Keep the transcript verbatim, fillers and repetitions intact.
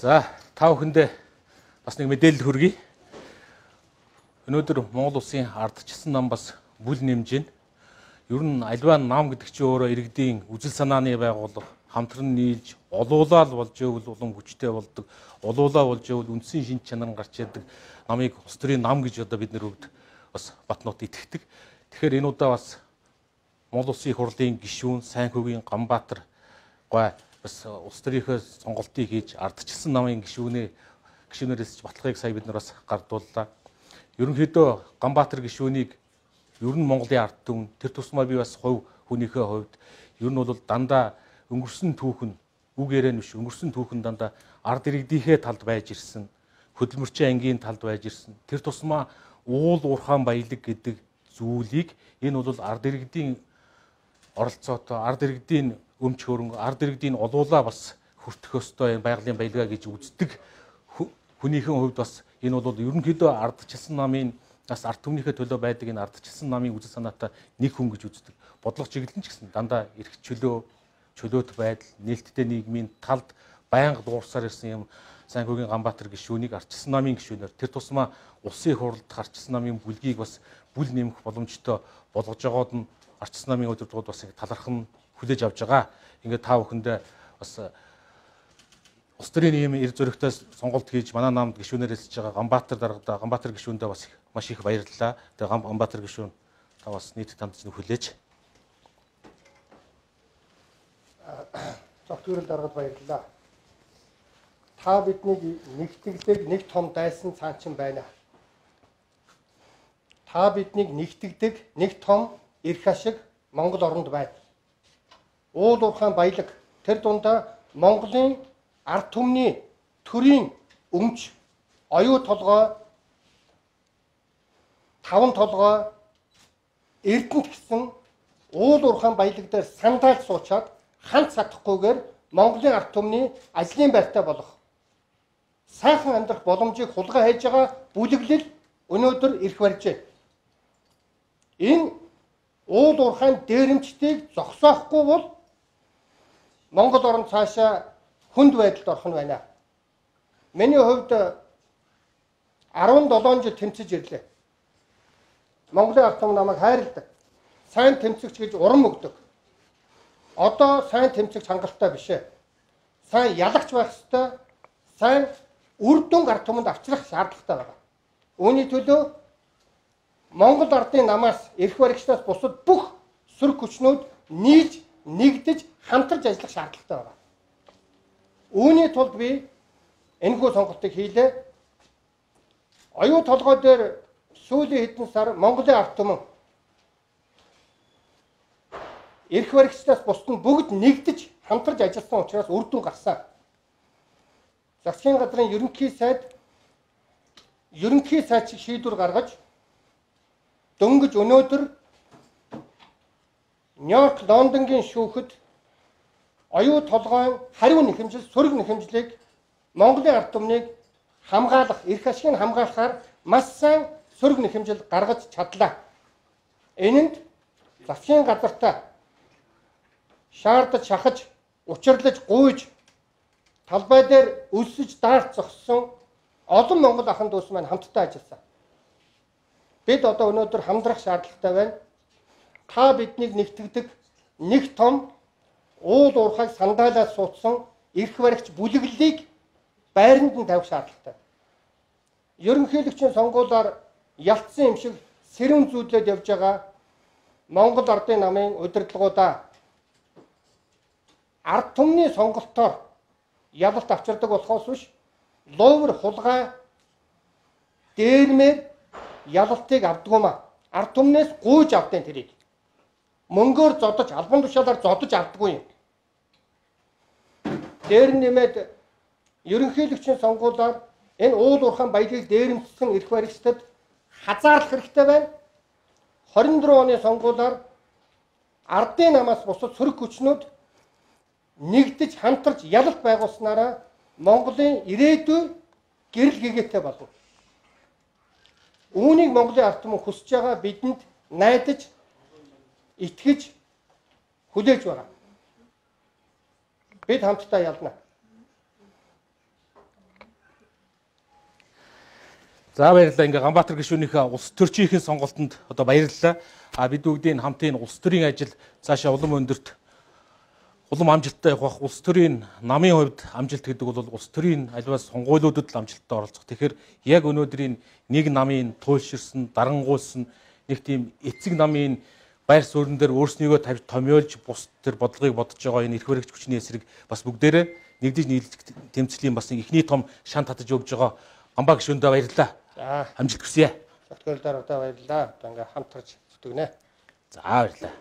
За, та бүхэндээ бас нэг мэдээлэл хүргэе. Өнөөдөр Монгол улсын ардчилсан нам бас бүл нэмж байна. Ер нь альва нам гэдэг чинь өөрөө иргэдийн үжил санааны байгууллага хамтран нийлж олуулаад болж ивэл улам хүчтэй болдог. Олуулаа болж ивэл үндсэн шинж чанар гарч яадаг намыг улс төрийн нам гэж одоо бид нэр бүгд бас Батнууд итгэдэг. Тэгэхээр энэ удаа бас Монгол улсын их хурлын гишүүн Сайнхүүгийн Ганбаатар гой бас улс төрийнхөө сонголтыг хийж ардчилсан намын гишүүнээ гишүүнээрээс баталгааг сая бид нар бас гардууллаа. Ерөнхийдөө Ганбаатар гишүүнийг ер нь Монголын ард түмэн тэр тусмаа би бас хувь хүнийхээ хувьд ер нь бол дандаа өнгөрсөн түүхэн үг яриа нь биш өнгөрсөн түүхэн дандаа ард иргэдийнхээ талд байж ирсэн, хөдөлмөрчийн ангийн талд байж ирсэн. Тэр тусмаа уул уурхаан баялаг гэдэг зүйлийг энэ бол ард иргэдийн оролцоотой, ард иргэдийн өмч хөрөнгө, ард иргэдийн олуулаа бас хүртэх ёстой энэ байгалийн баялгаа гэж үздэг хүнийхэн хувьд бас энэ бол ерөнхийдөө ардчилсан намын бас ард түмнийхээ төлөө байдаг энэ ардчилсан намын үзэл санаатай нэг хүн гэж үздэг. Бодлого чиглэлэн ч гэсэн дандаа эрх чөлөө, чөлөөт байдал, нээлттэй нийгмийн талд байнга дуурсаар ирсэн юм Сайнхүүгийн Ганбаатар гишүүнийг ардчилсан намын гишүүнээр тэр тусмаа улсын хурлд ардчилсан намын бүлгийг бас бүл нэмэх боломжтой болгож байгаад нь ардчилсан намын удирдлагууд бас талархан хүлээж авч байгаа. Ингээд та бүхэндээ бас улс төрийн ийм эр зөрөгтэй сонголт хийж манай намд гишүүнээр хэлж байгаа Ганбаатар даргада Ганбаатар гишүүндээ бас маш их баярлалаа. Тэгээ Ганбаатар гишүүн та бас нийт танд хүлээж. Зөвхөн даргад баярлалаа. Та биднийг нэгтгэдэг нэг том дайсан цаанчин байна. Та биднийг нэгтгэдэг нэг том эрх ашиг Монгол оронд байна. Уул уурхаан баялаг тэр дундаа Монголын ард түмний төрийн өмч, оюу толгой, таван толгой, эрдэнэт гэсэн уул уурхаан баялаг дээр сандаалж суучаад ханц сатахгүйгээр Монголын ард түмний ажлын байртай болох сайхан амьдрах боломжийг хулгай хийж байгаа бүлэглэл өнөөдөр ирэх барьж байна. Энэ уул уурхайн дээрэмчдийг зогсоохгүй бол Монгол орн цаашаа хүнд байдалд орох нь байна. Миний хувьд арван долоон жил тэмцэж ирлээ. Монголын ард түмэн намайг хайрладаг. Сайн тэмцэгч гэж урам өгдөг. Одоо сайн тэмцэгч хангалттай биш ээ. Сайн ялагч байх ёстой. Сайн үр дүн ард түмэнд авчрах шаардлагатай байна. Үүний төлөө Монгол ардын намаас эрх баригчдаас бусад бүх сөрөг хүчнүүд нийлж нэгдэж хамтарч ажиллах шаардлагатай байна. Үүний тулд би энэхүү сонголтыг хийлээ. Оюу толгой дээр сүүлийн хэдэн сар Монголын ард түмэн эрх баригчдаас бусад нь бүгд нэгдэж хамтарч ажилласан учраас үр дүн гарсан. Засгийн газрын ерөнхий сайд ерөнхий сайд шиг шийдвэр гаргаж дөнгөж өнөөдөр Нью-Йорк, Лондонгийн шүүхэд оюу толгойн хариу нэхэмжил, сөрөг нэхэмжлийг Монголын ард түмнийг хамгаалах, эрх ашигыг хамгаалахаар маш сайн сөрөг нэхэмжил гаргаж чадлаа. Энэнд засгийн газартаа шаардаж, шахаж, учирлаж, гуйж талбай дээр өлсөж даарч зогссон олон Монгол ахын дүүс маань хамтдаа ажилласан. Бид одоо өнөөдөр хамдрах шаардлагатай байна. Та биднийг нэгтгэдэг нэг том уул уурхайг сандаалаад суудсан эрх баригч бүлэглэлийг байранд нь тавих шаардлагатай. Ерөнхийлөгчийн сонгуулиар ялцсан юм шиг сэрүүн зүүдлээд явж байгаа Монгол ардын намын удирдлагуудаа ард түмний сонголтоор ялалт авчирдаг болохоос биш ловер хулгай дээрмээр ялалтыг авдгуумаа ард түмнээс гуйж авдیں۔ Тэрийг мөнгөөр зодож албан тушаалаар зодож авдаггүй юм. Дээр нэмээд ерөнхийлөгчийн сонгуулиар энэ уул уурхаан баялагийг дээрэмдсэн эрх баригчдад хазаарлах хэрэгтэй байна. хорин дөрөв оны сонгуулиар ардын намаас бусад сөрөг хүчнүүд нэгдэж хамтарч ялалт байгуулснараа Монголын ирээдүй гэрэл гэгээтэй болно. Үүнийг Монголын ард түмэн хүсэж байгаа бидэнд найдаж, итгэж, хүлээж байгаа. Бид хамтдаа ялна. За баярлалаа. Ингээ Ганбаатар гишүүнийхээ улс төрчийнхэн сонголтонд одоо баярлалаа. А бид бүгдийн хамтын улс төрийн ажил цаашаа улам өндөрт улам амжилттай явах. Улс төрийн намын хувьд амжилт гэдэг бол улс төрийн альваа сонгуулиудад л амжилттай оролцох. Тэгэхээр яг өнөөдрийн нэг намын туйлширсан, дарангуйсан нэг тийм эцэг намын байр суурин дээр өөрснийгөө тавьж томьёолж бус тэр бодлогыг бодож байгаа энэ эрх баригч хүчний эсрэг бас бүгдээрээ нэгдэж нийлж тэмцлийн бас ихний том шант татаж өгж байгаа Ганбаа гишүүндээ баярлалаа. За Амжилт хүсье. зөвхөн дараа баярлалаа. Одоо ингээ хамтарч зүтгэнэ. За баярлалаа.